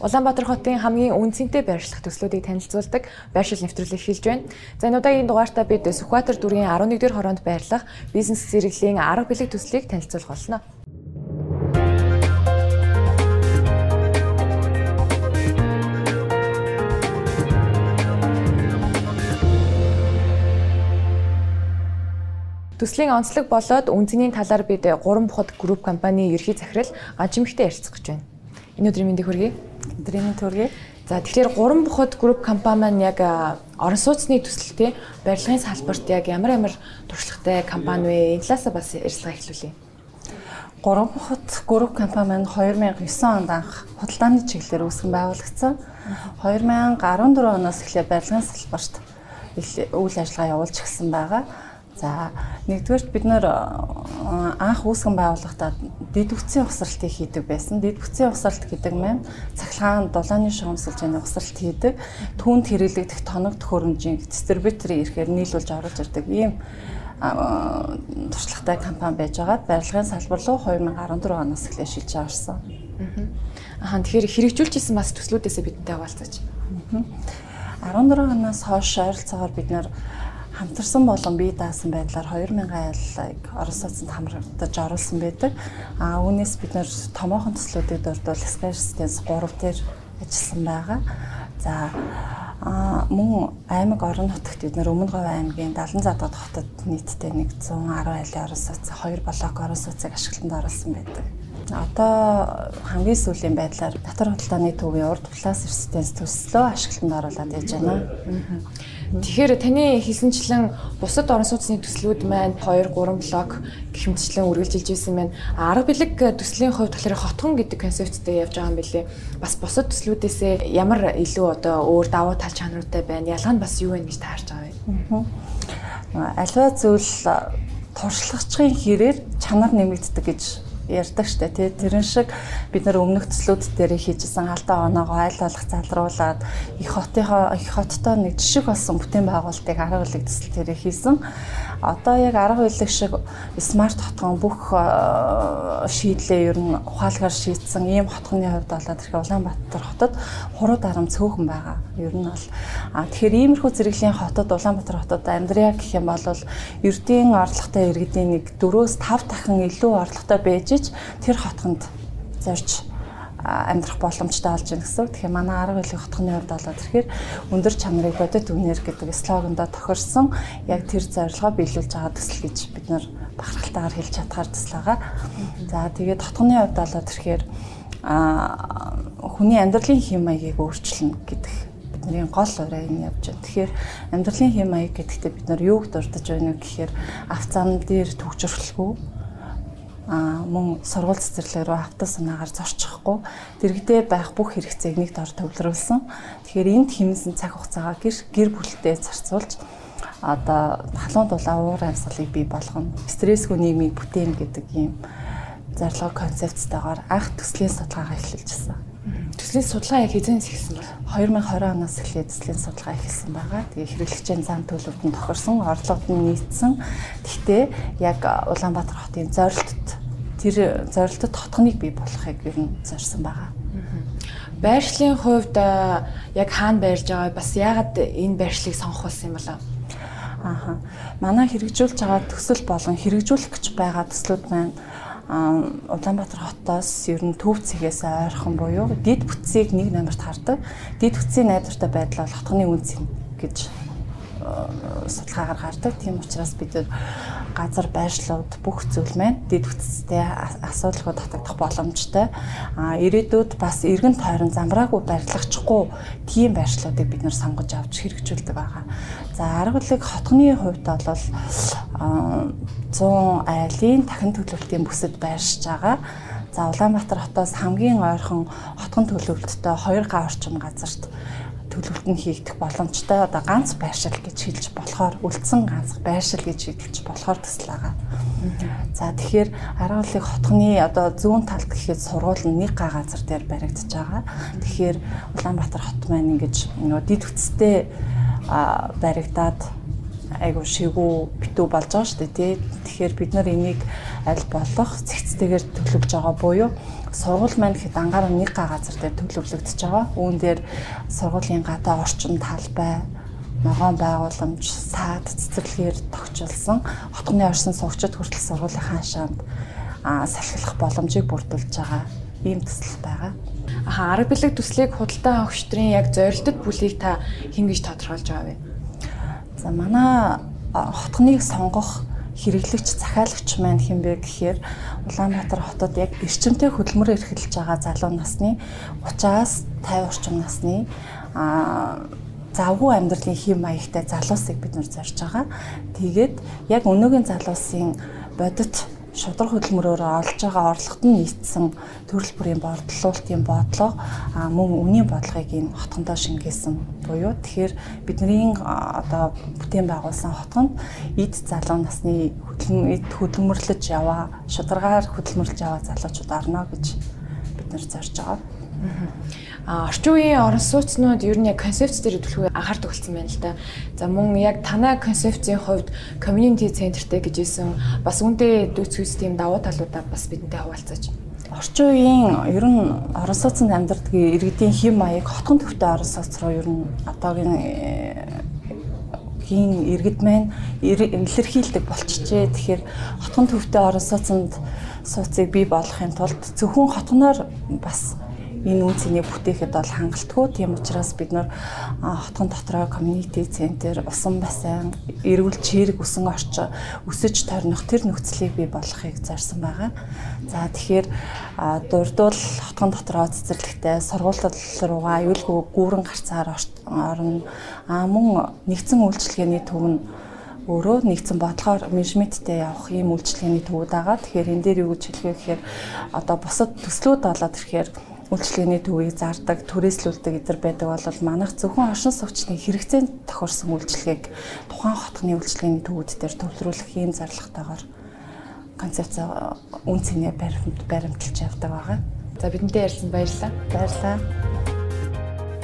Улаанбаатар хотын хамгийн үнцэнтэй байршлах төслүүдийг танилцуулдаг байршил нэвтрүүлэг эхэлж байна. За энэ удаагийн дугаартаа бид Сүхбаатар дүргийн 11-р хороонд байрлах бизнес зэрэглийн арга бэлэг төслийг танилцуулах болно. Төслийн онцлог болоод үнцний талаар бид 3 бухад групп компани ерхий захирал Ганчимхтэй ярилцах гэж байна. Энэ өдрийн мэндийг хүргэе. Өдрийн мэнд хүргэе. За тэгэхээр 3 бухад групп компани маань яг орон сууцны төсөлтэй барилгын салбарт яг ямар туршлагатай компани вэ? Энэ талаас бас ярилцлага эхлүүлье. 3 бухад групп компани маань 2009 онд анх худалдааны чиглэлээр үүсгэн байгуулагдсан. 2014 оноос эхлээд барилгын салбарт үйл ажиллагаа явуулж эхэлсэн байгаа. За нэгдүгээрт бид нэр анх үүсгэн байгуулахдаа дэд бүтцийн ухсралтыг хийдэг байсан. Дэд бүтцийн ухсралт гэдэг маань цахилгаан дулааны шугамсалжийн ухсралт хийдэг. Түүнд хэрэглэгдэх тоног төхөөрөмжийн дистрибьютори ирэхээр нийлүүлж оруулж ирдэг ийм туршлагатай компани байж байгаад барилгын салбар руу 2014 оноос эхлээд шилжиж авсан. Тэгэхээр хэрэгжүүлжсэн бас төслүүдээсээ бидэнтэй хаваалцаач. 14 оноос хойш ойролцоогоор бид нэр хамтарсан болон бие даасан байдлаар 2000 аяллыг орон сууцнд хамрагдаж оруулсан байдаг. Үүнээс бид нэр томоохон төслүүдэд дурдвал Skyspace 3 дээр ажилласан байгаа. За мөн аймаг орон нутагт бид нэр Өмнө Говь аймгийн Далан Задгад хотод нийтдээ 110 айлын орон сууц, 2 блок орон сууцыг ашиглалтанд оруулсан байдаг. Одоо хамгийн сүүлийн байдлаар татвар худалдааны төвийн урд талаас эрсдэлс төслөө ашиглалтанд оруулаад яаж байна. Тэгэхээр таны хэлсэнчлэн бусад орон сууцны төслүүд маань 2, 3 блок гихмитчлэн үргэлжилж ирсэн байна. Арга бэлэг төслийн хувьд болохоор хотгон гэдэг концепттэй явж байгаа юм билээ. Бас бусад төслүүдээсээ ямар илүү одоо өөр давуу тал чанаруудтай байна? Ялгаа нь бас юу вэ гэж таарч байгаа вэ? Аливаа зүйл туршлагачийн хэрээр чанар нэмэгддэг гэж ярьдаг штэ тий. Тэрэн шиг бид нар өмнөх төслүүд дээр хийжсэн алдаа оноогоо айл болох залруулад их хоттой нэг жишг болсон бүтээн байгуулалтыг арга бэлэг төсөл дээр хийсэн. Одоо яг арга бэлэг шиг смарт хотгон бүх шийдлээ ер нь ухаалгаар шийдсэн ийм хотгоны хувьд болоод тэгэхээр Улаанбаатар хотод хуруу дарам цөөхөн байгаа. Ер нь бол тэгэхээр иймэрхүү зэрэглийн хотод Улаанбаатар хотод амьдрия гэх юм бол ердийн орлоготой иргэдийн нэг 4-5 дахин илүү орлоготой байж тэр хотгонд зорж амьдрах боломжтой болж байна гэсэн. Тэгэхээр манай арга бэлэг хотгоны хувьд болоод тэгэхээр өндөр чанарыг бодит үнээр гэдэг слогондоо тохирсон яг тэр зорилгоо биелүүлж байгаа төсөл гэж бид нар бахархалтайгаар хэлж чадхаар төсөл байгаа. За тэгээд хотгоны хувьд болоод тэгэхээр хүний амьдралын хэм маягийг өөрчилнө гэдэг бидний гол ураа энэ явж байна. Тэгэхээр амьдралын хэм маяг гэдэгтээ бид нар юуг дурдж байна вэ гэхээр авцаан дээр төгжрөлгүй мөн сургууль цэцэрлэг рүү авто санаагаар зорчихгүй дэрэгдээ байх бүх хэрэгцээг нэг дор төвлөрүүлсэн. Тэгэхээр энд хэмнэсэн цаг хугацаагаа гэр бүлтэй зарцуулж одоо халуун дулаан уур амьсгалыг бий болгоно. Стрессгүй нийгмийг бүтээн гэдэг ийм зорилго концепцтойгоор анх төслийн судалгаагаа эхэлжсэн. Төслийн судалгаа яг хэзээс эхэлсэн бэ? 2020 оноос эхлээд төслийн судалгаа эхэлсэн байгаа. Тэгээ хэрэглэгчийн зам төлөвлөлтөнд тохирсон, орлогод нь нийцсэн. Гэхдээ яг Улаанбаатар хотын тэр зорилтод хотгоныг бий болгохыг ер нь зорьсон байгаа. Байршлын хувьд яг хаана байрлаж байгаа бас яагаад энэ байршлыг сонгох болсон юм болов? Манай хэрэгжүүлж байгаа төсөл болон хэрэгжүүлэх гэж байгаа төслүүд маань Улаанбаатар хотоос ер нь төв цэгээс ойрхон буюу дэд бүтцийг нэг номерт хардаг. Дэд бүтцийн найдвартай байдал бол хотгоны үнц гэж судалгаагаар гардаг. Тийм учраас бид газар байршлууд бүх зүйл маань дэд бүтцтэй асуудалгүй татагдах боломжтой. Ирээдүйд бас эргэн тойрон замраагүй барилгачихгүй тийм байршлуудыг бид нэр сонгож авч хэрэгжүүлдэг байгаа. За арга бэлэг хотгоны хувьд бол 100 айлын дахин төлөвлөлтийн бүсэд байршиж байгаа. За Улаанбаатар хотоос хамгийн ойрхон хотгон төлөвлөлттэй 2 га орчим газарт төлөвлөлт нь хийгдэх боломжтой. Одоо ганц байршил гэж хэлж болохоор үлдсэн ганц байршил гэж хэлж болохоор төсөл байгаа. За тэгэхээр арга бэлэг хотгоны одоо зүүн талд гэхэд сургууль нь нэг га газар дээр баригдаж байгаа. Тэгэхээр Улаанбаатар хот маань ингэж дэд бүтцтэй баригдаад айгу шигүү битүү болж байгаа шүү дээ тий. Тэгэхээр бид нар энийг аль болох цэгцтэйгээр төлөвлөж байгаа буюу сургууль маань гэхэд ангаар нэг газар дээр төлөвлөгдөж байгаа. Үүн дээр сургуулийн гадаа орчин талбай, ногоон байгууламж, саад цэцэрлэгээр тогтчилсан хотгоны оршин суугчид хүртэл сургуулийн хаашаанд салхилах боломжийг бүрдүүлж байгаа ийм төсөл байгаа. Арга бэлэг төслийг худалдан авах штрийн яг зорилтод бүлийг та хэн гэж тодорхойлж байгаа вэ? За манай хотгоныг сонгох хэрэглэгч захиалагч маань хэн бэ гэхээр Улаанбаатар хотод яг эрчимтэй хөдөлмөр эрхэлж байгаа залуу насны 30-аас 50 орчим насны завгүй амьдралын хэм маягтай залуусыг бид нар зорж байгаа. Тэгээд яг өнөөгийн залуусын бодит шудраг хөдөлмөрөөр олж байгаа орлогот нь нийцсэн төрөл бүрийн борлуулалтын бодлого мөн үнийн бодлогыг энэ хотгондоо шингээсэн буюу тэгэхээр бидний одоо бүтээн байгуулсан хотгонд эд залуу насны хөдөлмөрлөж яваа, шударгаар хөдөлмөрлөж яваа залуучууд орно гэж бид нар зорж байгаа. Орчин үеийн орон сууцнууд ер нь яг концепц дээр төлөвлөгөө анхаардаг болсон байна л да. За мөн яг танай концепцийн хувьд community centerтэй гэжсэн бас үүнтэй дүүцгүйс тийм давуу талуудаа бас бидэнтэй хуваалцаач. Орчин үеийн ер нь орон сууцнд амьдардаг иргэдийн хэм маяг хотгон төвтэй орон сууц руу ер нь одоогийн иргэд маань илэрхийлдэг болчихжээ. Тэгэхээр хотгон төвтэй орон сууцыг бий болгохын тулд зөвхөн хотгоноор бас энэ үн цэнийг бүтээхэд бол хангалтгүй. Тийм учраас бид нар хотгон дотроо community center, усан бассейн, эрүүл чирэг усан орчин өсөж торних тэр нөхцөлийг бий болгохыг зорьсон байгаа. За тэгэхээр дурдвал хотгон дотроо цэцэрлэгтэй сургууль руугаа аюулгүй гүүрэн гарцаар орно. Мөн нэгдсэн үйлчилгээний төв нь өөрөө нэгдсэн бодлогоор менежменттэй явах ийм үйлчилгээний төвүүд байгаа. Тэгэхээр энэ дээр юу гэж хэлэх вэ гэхээр одоо бусад төслүүд болоод ирэхээр үйлчилгээний төвийг зардаг, түрээслүүлдэг эдэр байдаг бол манайх зөвхөн оршин суугчдын хэрэгцээнд тохирсон үйлчилгээг тухайн хотгоны үйлчилгээний төвүүд дээр төвлөрүүлэх ийм зорилготойгоор концепц үн цэнэ баримталж явдаг байгаа. За бидэнтэй ярилцсан баярлалаа. Баярлалаа.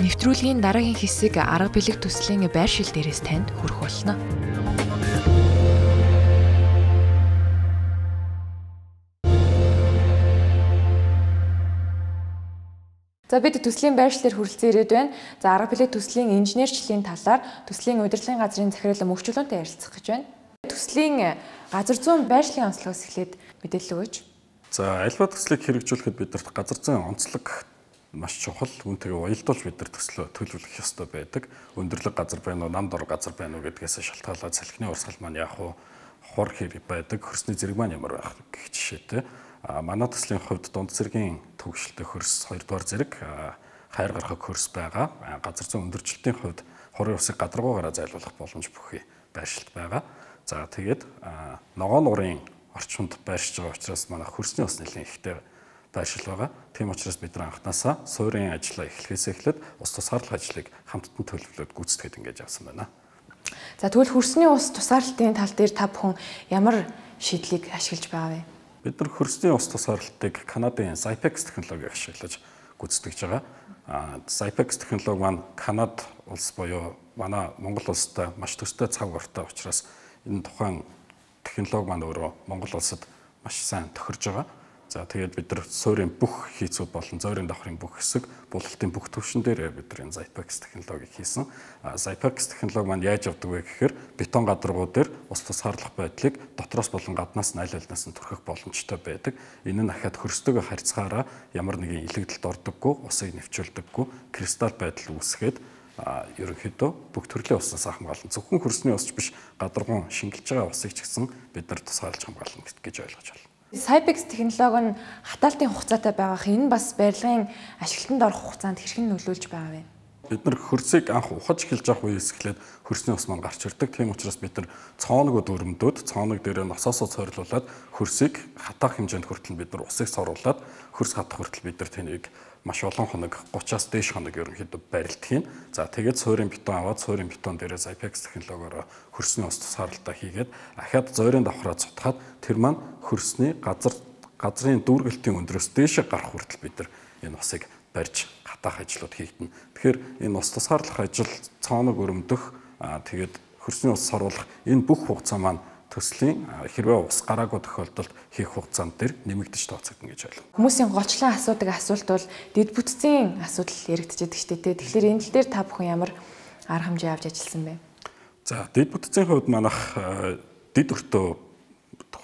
Нэвтрүүлгийн дараагийн хэсэг арга бэлэг төслийн байршил дээрээс танд хүрэх болно. За бид төслийн байршлаар хүрэлцэн ирээд байна. За арга бэлэг төслийн инженерчлэлийн талаар төслийн удирдлагын газрын захирал мөвчлөлөнтэй ярилцах гэж байна. Төслийн газар зүйн байршлын онцлогоос эхлээд мэдээлэл өгөөч. За альва төслийг хэрэгжүүлэхэд бидэрт газар зүйн онцлог маш чухал. Үүнтэйгээ уялдуулж бид нар төслөө төлөвлөх ёстой байдаг. Өндөрлөг газар байна уу, намд ор газар байна уу гэдгээс шалтгаалаад салхины урсгал маань яг хор хэрэг байдаг, хөрсний зэрэг маань ямар байх гэх жишээтэй. Манай төслийн хувьд дунд зэргийн төвөгшөлтэй хөрс 2 дугаар зэрэг хайр гарахыг хөрс байгаа. Газар зүйн өндөрчлөлтийн хувьд хорын усыг гадаргуугаараа зайлуулах боломж бүхий байршилт байгаа. За тэгээд ногоон нуурын орчинд байршиж байгаа учраас манай хөрсний ус нэлээд ихтэй байршил байгаа. Тийм учраас бид нар анханасаа суурийн ажлаа эхлэхээс эхлээд ус тусгаарлах ажлыг хамтдан төлөвлөд гүйцэтгэхэд ингэж явсан байна. За тэгвэл хөрсний ус тусгаарлалтын тал дээр та бүхэн ямар шийдлийг ашиглаж байгаа вэ? Бид нар хөрсний ус тусгаарлалтыг Канадын Zypex технологиг ашиглаж гүйцэтгэж байгаа. Zypex технологи маань Канад улс буюу манай Монгол улстай маш төстэй цаг уртаа учраас энэ тухайн технологи маань өөрөө Монгол улсад маш сайн тохирж байгаа. За тэгээд бид нар суурийн бүх хийцүүд болон зөөрийн давхрын бүх хэсэг, булалтын бүх төвшин дээр бид нар энэ Zypex технологиг хийсэн. Zypex технологи маань яаж явдаг вэ гэхээр бетон гадаргуу дээр ус тусгаарлах байдлыг дотроос болон гаднаас нь аль альнаас нь түрхэх боломжтой байдаг. Энэ нь ахаад хөрстөг харьцаагаараа ямар нэгэн илэгдэлд ордоггүй, усыг нэвчүүлдэггүй, кристалл байдал үүсгээд ерөнхийдөө бүх төрлийн уснаас хамгаална. Зөвхөн хөрсний усч биш, гадаргуун шингэлж байгаа усыг ч гэсэн бид нар тусгаарлаж хамгаална гэж ойлгож байна. Zypex технологи нь хатаалтын хугацаатай байгаах энэ бас барилгын ашиглалтанд орох хугацаанд хэрхэн нөлөөлж байгаа вэ? Бид нар хөрсийг анх ухаж эхэлж авах үеэс эхлээд хөрсний ус маань гарч ирдэг. Тийм учраас бид нар цооногод өрөмдөөд цооног дээр насаасаа цойрлуулад хөрсийг хатаах хэмжээнд хүртэл бид нар усыг соруулад хөрс хатах хүртэл бид нар тэнийг маш олон хоног 30-аас дээш хоног ерөнхийдөө барилдах юм. За тэгээд суурийн бетон аваад суурийн бетон дээрээ Zypex технологиор хөрсний ус тусгаарлалтаа хийгээд ахаад зөөрийн давхраа цутгаад тэр маань хөрсний газрын дүүргэлтийн өндрөөс дээшээ гарах хүртэл бид нар энэ усыг барьж хатаах ажлууд хийгдэнэ. Тэгэхээр энэ ус тусгаарлах ажил цооног өрөмдөх тэгээд хөрсний ус соруулах энэ бүх хугацаа маань төслийн хэрвээ ус гараагүй тохиолдолд хийх хугацаанд дээр нэмэгдэж тооцогдно гэж ойлгоо. Хүмүүсийн гочлон асуудаг асуулт бол дэд бүтцийн асуудал яригдчихэдэг шүү дээ. Тэгэхээр энэ тал дээр та бүхэн ямар арга хэмжээ авч ажилласан бэ? За дэд бүтцийн хувьд манайх дэд өртөө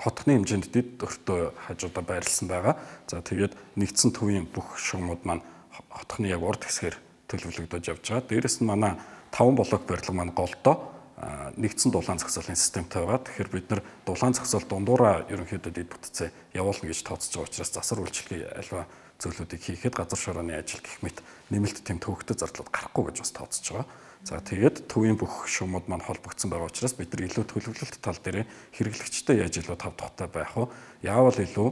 хотхны хэмжээнд дэд өртөө хажуудаа байрласан байгаа. За тэгээд нэгдсэн төвийн бүх шугамуд маань хотхны яг урд хэсгээр төлөвлөгдөж явж байгаа. Дээрээс нь манай 5 блок барилга маань голдоо нэгдсэн дулаан зохицуулалтын системтэй байгаа. Тэгэхээр бид нар дулаан зохицуулалт дундуураа ерөнхийдөө дэд бүтцээ явуулна гэж тооцож байгаа учраас засвар үйлчлэгийн альва зөвлөлүүдийг хийхэд газар шорооны ажил гэх мэт нэмэлт тэм төвөгтэй зардлууд гарахгүй гэж бас тооцож байгаа. За тэгээд төвийн бүх шугамуд маань холбогдсон байгаа учраас бид нар илүү төлөвлөлт тал дээр хэрэглэгчтэй яаж илүү тав тухтай байх вэ? Яавал илүү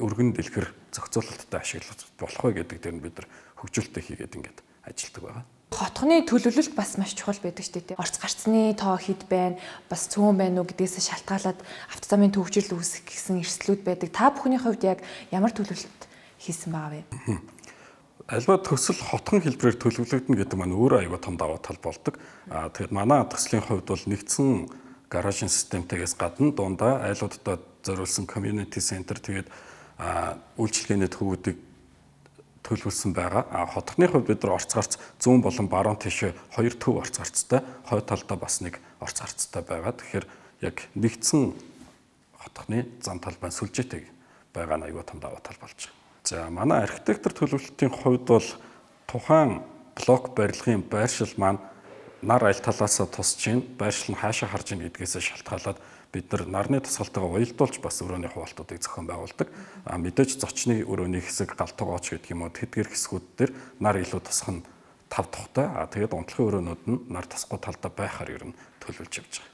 өргөн дэлгэр зохицуулалттай ашиглах болох вэ гэдэг дээр нь бид нар хөгжүүлэлтээ хийгээд ингээд ажилладаг байгаа. Хотхны төлөвлөлт бас маш чухал байдаг шүү дээ. Орц гарцны тоо хэд байна, бас цөөн байна уу гэдгээс шалтгаалаад автозамын төвчрөл үүсэх гэсэн эрсдлүүд байдаг. Та бүхний хувьд яг ямар төлөвлөлт хийсэн байгаа вэ? Альва төсөл хотхон хэлбэрээр төлөвлөгдөн гэдэг маань өөрөө аюул том даваа тал болдог. Тэгэхээр манай төслийн хувьд бол нэгдсэн гаражийн системтэйгээс гадна дундаа айлуудад зориулсан community center тэгээд үйлчилгээний төвүүдийг төлөвлөсөн байгаа. Хотхны хувьд бид нар орц гарц зүүн болон баруун тишээ 2 төв орц гарцтай, хойд талдаа бас 1 орц гарцтай байгаа. Тэгэхээр яг нэгдсэн хотхны зам талбай сүлжээтэй байгаа нь аюул том даваа тал болж байгаа. За манай архитектор төлөвлөлтийн хувьд бол тухайн блок барилгын байршил маань нар аль талаас тусч ийн, байршил нь хаашаа харж ийн гэдгээс шалтгаалаад бид нар нарны тусгалтайгаа уялдуулж бас өрөөний хуваалтуудыг зохион байгуулдаг. Мэдээж зочны өрөөний хэсэг, галтгооч гэдэг юм уу тэдгээр хэсгүүд дээр нар илүү тусах нь тав тухтай. Тэгээд унтлахын өрөөнүүд нь нар тасгүй талдаа байхаар ер нь төлөвлөж явж байгаа.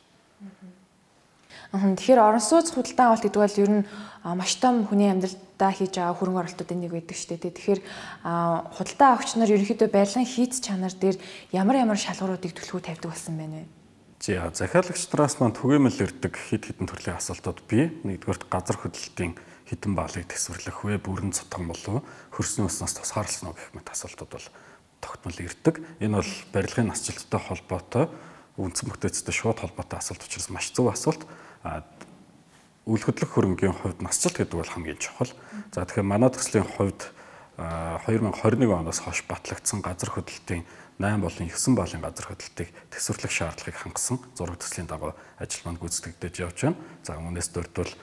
Тэгэхээр орон сууц худалдан авалт гэдэг бол ер нь маш том хүний амьдралдаа хийж байгаа хөрөнгө оруулалтуудын нэг байдаг шүү дээ. Тэгэхээр худалдан авагч нар ерөнхийдөө барилгын хийц чанар дээр ямар шалгууруудыг төлөвлөгөө тавьдаг болсон байна вэ? За захиалагч нараас маань түгээмэл ирдэг хэд хэдэн төрлийн асуултууд бий. Нэгдүгээр газар хөдлөлтийн хэдэн баалыг төсвөрлөх вэ? Бүрэн цотгон болов? Хөрсний уснаас тусгаарлсан уу гэх мэт асуултууд бол тогтмол ирдэг. Энэ бол барилгын насжилттай холбоотой, үндсэн бүтээцтэй шууд холбоотой асуулт учраас маш зөв асуулт. Үйл хөдлөх хөрөнгийн хувьд насжилт гэдэг бол хамгийн чухал. За тэгэхээр манай төслийн хувьд 2021 оноос хойш батлагдсан газар хөдлөлтийн 8 болон 9 баалын газар хөдлөлтийг төсвөрлөх шаардлагыг хангасан зураг төслийн дагуу ажил маань гүйцэтгэгдэж явж байна. За үүнээс дөрөвдөл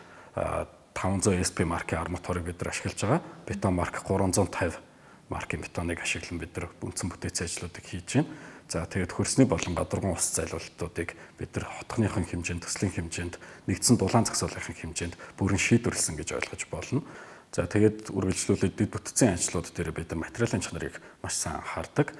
500 SP маркийн арматурыг бид нар ашиглаж байгаа. Бетон марк 350 маркийн бетоныг ашиглан бид нар үндсэн бүтээцийн ажлуудыг хийж байна. За тэгээд хөрсний болон гадаргуун ус зайлуулалтуудыг бид нар хотхныхын хэмжээнд, төслийн хэмжээнд, нэгдсэн дулаан зохицуулалтын хэмжээнд бүрэн шийдвэрлсэн гэж ойлгож болно. За тэгээд үргэлжлүүлээд дэд бүтцийн ажлууд дээр бид материалын чанарыг маш сайн анхаардаг.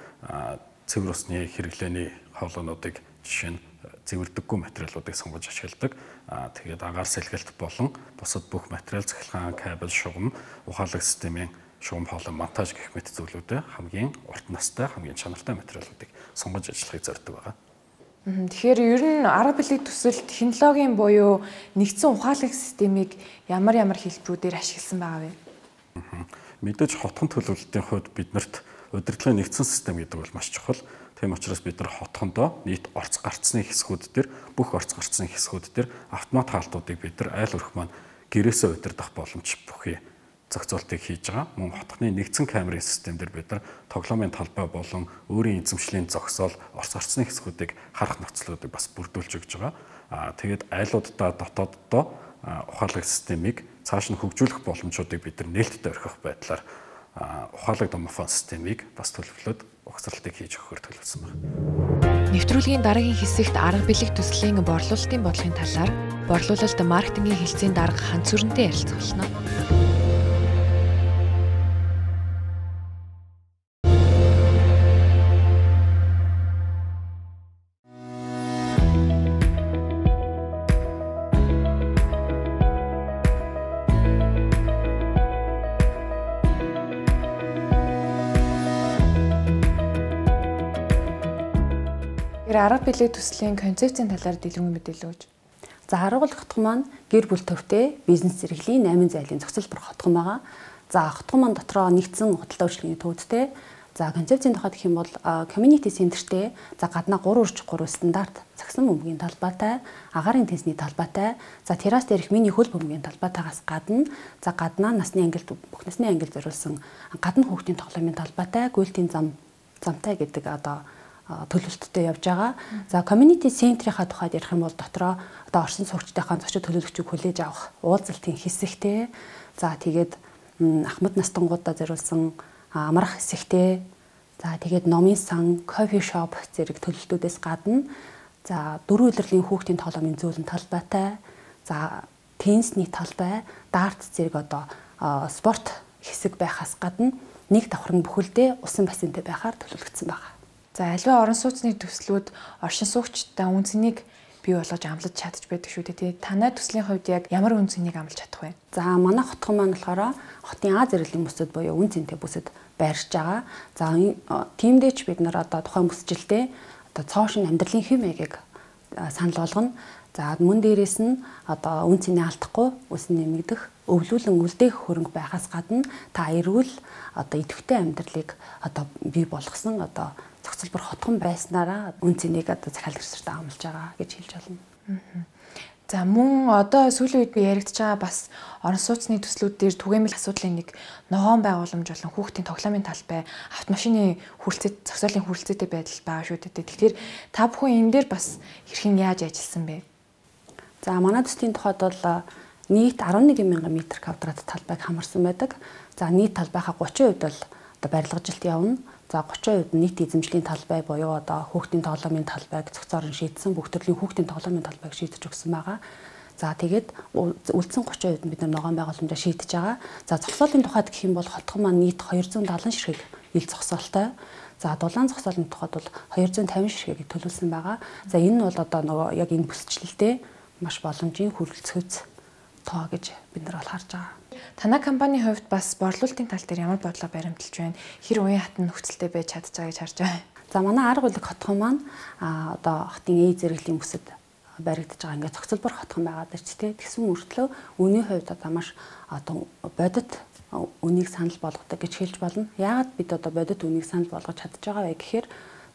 Цэвэр усны хэрэглээний хоолойнуудыг жишээ нь цэвэрдэггүй материалуудыг сонгож ашигладаг. Тэгээд агаар сэлгэлт болон бусад бүх материал цахилгаан, кабель, шугам, ухаалаг системийн шугам хоолой монтаж гэх мэт зүйлүүдэд хамгийн урт настай, хамгийн чанартай материалуудыг сонгож ажиллахыг зорддог байгаа. Тэгэхээр ер нь арга билег төсөл технологийн буюу нэгдсэн ухаалаг системийг ямар хэлбэрүүдээр ашигласан байгаа вэ? Мэдээж хотхон төлөвлөлтийн хувьд биднэрт удирдлагын нэгдсэн систем гэдэг бол маш чухал. Тийм учраас бид нар хотхондоо нийт орц гарцны хэсгүүд дээр бүх орц гарцны хэсгүүд дээр автомат хаалтуудыг бид нар айл өрх маань гэрээсээ удирдах боломж бүхий зохицуултыг хийж байгаа. Мөн хотхны нэгдсэн камерын систем дээр бид нар тоглоомын талбай болон өөрийн эзэмшлийн зогсоол орц гарцны хэсгүүдийг харах нөхцлүүдийг бас бүрдүүлж өгч байгаа. Тэгээд айлуудаа дотооддоо ухаалаг системийг цааш нь хөгжүүлэх боломжуудыг бид нар нээлттэй орхих байдлаар ухаалаг домофон системийг бас төлөвлөд угсралтыг хийж өгөхөөр төлөвлөсөн байна. Нэвтрүүлгийн дараагийн хэсэгт арга билег төслийн борлуулалтын бодлогын талаар борлуулалт маркетингийн хэлтсийн дарга Ханц Сүрэнтэй ярилцах болно. Арга билег төслийн концепцийн талаар дэлгэрэнгүй мэдээлэл өгөөч. За харгуул хотхон маань гэр бүл төвтэй бизнес зэрэглэлийн 8 зайлын зохицол бүр хотхон байгаа. За хотхон маань дотроо нэгдсэн худалдаа үйлчилгээний төвөдтэй. За концепцийн тухайд гэх юм бол community centerтэй за гаднаа 3/3 стандарт загсан бөмбөгийн талбайтай, агаарын тэнцний талбайтай, за террас дээрх мини хөл бөмбөгийн талбайтайгаас гадна за гаднаа насны ангилд бүх насны ангилд зориулсан гадна хүүхдийн тоглоомын талбайтай, гүйлтийн замтай гэдэг төлөвлөлттэй явж байгаа. За community center-ийнхаа тухайд ярих юм бол дотроо орсон суугчдынхаа зочид төлөөлөгчийг хүлээж авах уулзалтын хэсэгтэй. За тэгээд ахмад настангуудаа зориулсан амрах хэсэгтэй. За тэгээд номын сан, кофе шоп зэрэг төлөлтүүдээс гадна за 4 улирлын хүүхдийн тоглоомын зөөлөн талбайтай, за теннисний талбай, дартс зэрэг спорт хэсэг байхаас гадна нэг давхрын бүхэлдээ усан бассейнтэй байхаар төлөвлөгдсөн байна. За аливаа орон сууцны төслүүд оршин суугчдаа үн цэнийг бий болгож амлаж чадчих байдаг шүү дээ. Танай төслийн хувьд яг ямар үн цэнийг амлаж чадах вэ? За манай хотхон маань болохоор хотын А зэрэглэлийн бүсэд буюу үн цэнтэй бүсэд байршиж байгаа. За тиймдээч бид нар тухайн бүсжилдээ цоошин амьдралын хэв маягийг санал болгоно. За мөн дээрээс нь үн цэнийг алдахгүй, үс нэмэгдэх, өвлүүлэн үлдээх хөрөнгө байхаас гадна та эрүүл идэвхтэй амьдралыг бий болгосон зохицолбор хотхон байснараа үн цэнийг захиалгч сартаа амлаж байгаа гэж хэлж болно. За мөн сүүлийн үед би яригдж байгаа бас орон сууцны төслүүд дээр түгээмэл асуудлын нэг ногоон байгууламж болон хүүхдийн тоглоомын талбай, автомашины хүрэлцээ, зогсоолын хүрэлцээтэй байдал байгаа шүү дээ. Тэгэхээр та бүхэн энэ дээр бас хэрхэн яаж ажилласан бэ? За манай төслийн тухайд бол нийт 11,000 м квадрат талбайг хамарсан байдаг. За нийт талбайхаа 30% бол барилгажилт явна. За 30% нийт эзэмшлийн талбай буюу хүүхдийн тоглоомын талбайг зохицоор нь шийдсэн, бүх төрлийн хүүхдийн тоглоомын талбайг шийдэж өгсөн байгаа. За тэгээд үлдсэн 30% нь бид ногоон байгууламжаа шийдэж байгаа. За зогсоолын тухайд гэх юм бол хотхон маань нийт 270 ширхэг ил зогсоолтой. За дулаан зогсоолын тухайд бол 250 ширхгийг төлөвлөсөн байгаа. За энэ нь бол яг энэ бүсчлэлтэй маш боломжийн хүрэлцгүйц тоо гэж бид нар харж байгаа. Танай компанийн хувьд бас борлуулалтын тал дээр ямар бодлоо баримталж байна? Хэр уян хатан нөхцөлтэй байж чадж байгаа гэж харж байгаа. За манай арга улиг хотхон маань хотын A зэрэглэлийн бүсэд баригдаж байгаа ингээд зохицолбор хотхон байгаа даа ч тэгсэн мөртлөө үнийн хувьд маш бодит үнийг санал болгодог гэж хэлж болно. Яагаад бид бодит үнийг санал болгож чадж байгаа вэ гэхээр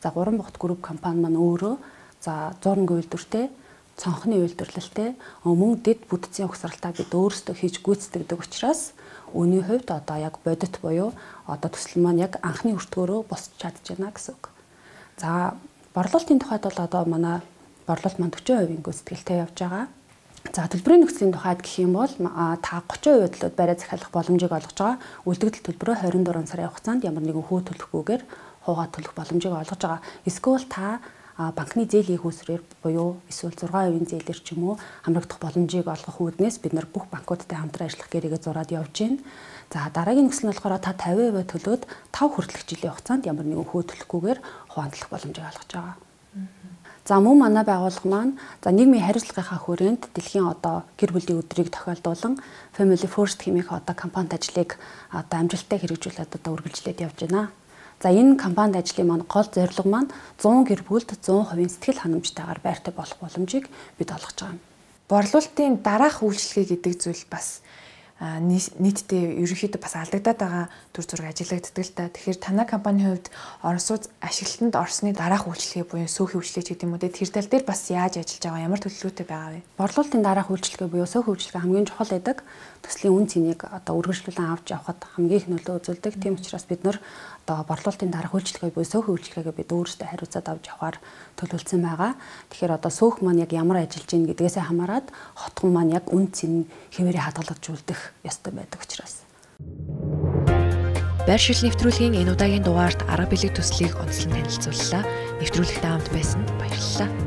за Гурван Бохот групп компани маань өөрөө за 100 үйлдвэртэй цонхны үйлдвэрлэлтэй мөн дэд бүтцийн угсралтаа бид өөрсдөө хийж гүйцэтгэдэг учраас үүний хувьд яг бодит буюу төсөл маань яг анхны өртгөөрөө босч чадж байна гэсэн үг. За борлуулалтын тухайд бол манай борлуулалт маань 40% гүйцэтгэлтэй явж байгаа. За төлбөрийн нөхцөлийн тухайд гэх юм бол та 30% төлөөд барай захиалах боломжийг олгож байгаа. Үлдэгдэл төлбөрөө 24 сарын хугацаанд ямар нэгэн хүү төлөхгүйгээр хуугаа төлөх боломжийг олгож байгаа. Эсвэл та банкны зээлийн хүүсрээр буюу эсвэл 6% зээлэр ч юм уу хамрагдах боломжийг олгох үүднээс бид нар бүх банкудтай хамтран ажиллах гэрээгээ зураад явж байна. За дараагийн нөхцөл нь болохоор та 50% төлөөд 5 хүртэлх жилийн хугацаанд ямар нэгэн хүү төлөхгүйгээр хуваалцах боломжийг олгож байгаа. За мөн манай байгууллага маань за нийгмийн хариуцлагынхаа хүрээнд дэлхийн гэр бүлийн өдрийг тохиолдуулан Family First хэмээх компанид ажлыг амжилттай хэрэгжүүлээд үргэлжлээд явж байна. За энэ компанид ажлын маань гол зорилго маань 100 гэр бүлд 100% сэтгэл ханамжтайгаар байртай болох боломжийг бид олгож байгаа юм. Борлуулалтын дараах үйлчлэгээ гэдэг зүйл бас нийтдээ ерөнхийдөө бас алдагдаад байгаа төр зураг ажиглагддаг л та. Тэгэхээр танай компанийн хувьд орон сууц ашиглалтанд орсны дараах үйлчлэгээ буюу сөөхийн үйлчлэгээ гэдэг юм уу те тэр тал дээр бас яаж ажиллаж байгаа ямар төлөвлөгөөтэй байгаа вэ? Борлуулалтын дараах үйлчлэгээ буюу сөөхийн үйлчлэгээ хамгийн чухал байдаг. Төслийн үн цэнийг үргэлжлүүлэн авч явахад хамгийн их нөлөө үзүүлдэг. Тийм учраас бид нар борлуулалтын дараах үйлчлэгээ буюу сөөхийн үйлчлэгээ бид өөрсдөө хариуцаад авч явахаар төлөвлөсөн байгаа. Тэгэхээр сөөх маань яг ямар ажиллаж ийн гэдгээсээ хамаарат хотхон маань яг үн цэн хэвээрээ хадгалагдуулдаг ёстой байдаг учраас. Байршил нэвтрүүлгийн энэ удаагийн дугаарт арга билег төслийг онцлон танилцууллаа. Нэвтрүүлэгт хамт байсан баярлалаа.